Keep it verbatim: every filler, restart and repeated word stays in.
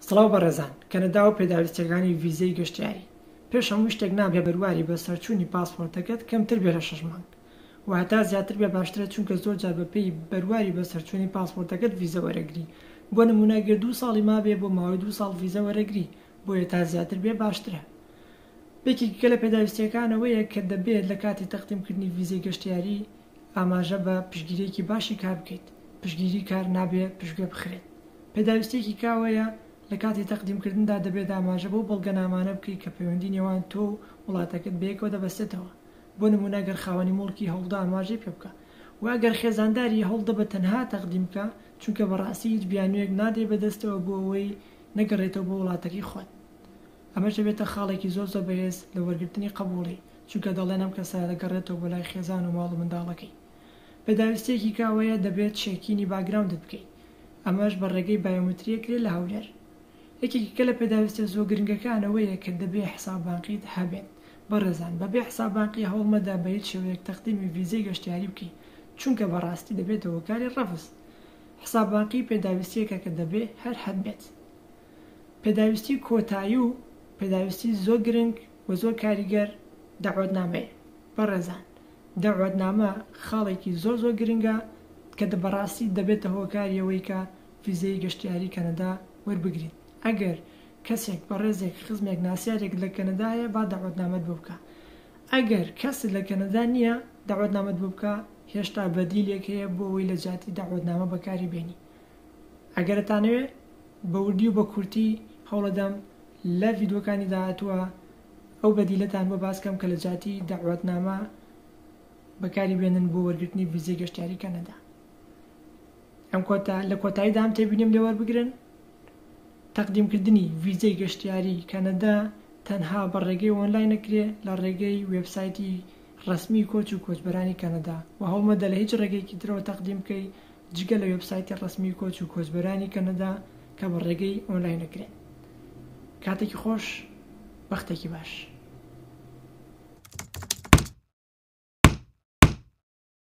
سڵاو بەڕێزان، کەنەدا و پێداویستیەکانی ڤیزەی گەشتیاری. پێش هەموو شتێک نابێ بەرواری بەسەرچوونی پاسپۆرتەکەت کەمتر بێ لە شەش مانگ و هەتا زیاتر بێ باشترە، چونکە زۆر جار بەپێی بەرواری بەسەرچوونی پاسپۆرتەکەت ڤیزە وەرەگری. بۆ نمونە گەر دوو ساڵی مابێ بۆ ماوەی دوو ساڵ ڤیزە وەرەگری، بۆیە تا زیاتر بێ باشترە. یەکێکی کە لە پێداویستیەکانەوەیە کە دەبێت لە کاتی تەقدیمکردنی ڤیزەی گەشتیاری ئاماژە بە پشتگیریەکی باشی کار بکەیت. پشتگیری کار نابێ پشتگوێ بخرێت. پێداویستیەکی کاوەیە لە کاتی تەقدیمکردندا دەبێت ئاماژە بەو بەڵگەنامانە بکەیت کە پەیوەندی نێوان تۆ و وڵاتەکەت بەیەکەوە دەبەستێتەوە. بۆ نمونە ئەگەر خاوەنی موڵکی هەوڵدە ئاماژەی پێ بکە، و ئەگەر خێزانداری هەوڵدە بە تەنها تەقدیم بکە، چونکە بەڕاستی هیچ بیانوویەک نادەی بەدەستەوە بۆ ئەوەی نەگەڕێتەوە بۆ وڵاتەکەی خۆت. ئەمەش دەبێتە خاڵێکی زۆر زۆر بەهێز لە وەرگرتنی قبوڵی، چونکە دەڵێن ئەم کەسە دەگەڕێتەوە بۆ لای خێزان و ماڵ و منداڵەکەی. پێداویستیەکی کاوەیە دەبێت check-in ی background ت بکەیت، ئەمەش بە ڕێگەی biometry ئەکرێت لە هەولێر. یەکێکی کە لە پێداویستیە زۆر گرنگەکانەوەیە کە دەبێ حساب بانقیت هەبێت. بەڕێزان بەبێ حساب بانقی هەوڵمەدە بە هیچ شێوەیەک تەقدیمی ڤیزەی گەشتیاری بکەیت، چونکە بەڕاستی دەبێتە هۆکاری ڕەفز. حساب بانقی پێداویستیەکە کە دەبێ هەر هەبێت. پێداویستی کۆتایی و پێداویستی زۆر گرنگ و زۆر کاریگەر دەعوەتنامەیە. بەڕێزان دەعوەتنامە خاڵێکی زۆر زۆر گرنگە کە بەڕاستی دەبێتە هۆکاری ئەوەی کە ڤیزەی گەشتیاری کەنەدا وەربگریت. ئەگەر کەسێک بەڕێزێک خزمێک ناسیارێک لە کەنەدا هەیە با دەعوەتنامەت بۆ بکە. ئەگەر کەس لە کەنەدا نییە دەعوەتنامەت بۆ بکە، هێشتا بەدیلێک هەیە بۆ ئەوەی لە جیاتی دەعوەتنامە بەکاری بێنی. ئەگەر ئەتانەوێ بە وردی و بە کورتی هەوڵەدەم لە ڤیدیۆکانی داهاتووە ئەو بەدیلەتان بۆ باس کەم کە لە جیاتی دەعوەتنامە بەکاری بێنن بۆ وەرگرتنی ڤیزەی گەشتیاری کەنەدا. ئەم کۆتا لە کۆتاییدا ئەم تێبینیم لێ وەربگرن. تەقدیمکردنی ڤیزەی گەشتیاری کەنەدا تەنها بە ڕێگەی ئۆنلاین نەکرێ، لە ڕێگەی وێبسایتی ڕەسمی کۆچ و کۆچبەرانی کەنەدا، و هەوڵمەدە لە هیچ ڕێگەیەکی ترەوە تەقدیم بکەی جگە لە وێبسایتی ڕەسمی کۆچ و کۆچبەرانی کەنەدا کە بە ڕێگەی ئۆنلاین نەکرێت. کاتێکی خۆش، بەختێکی باش.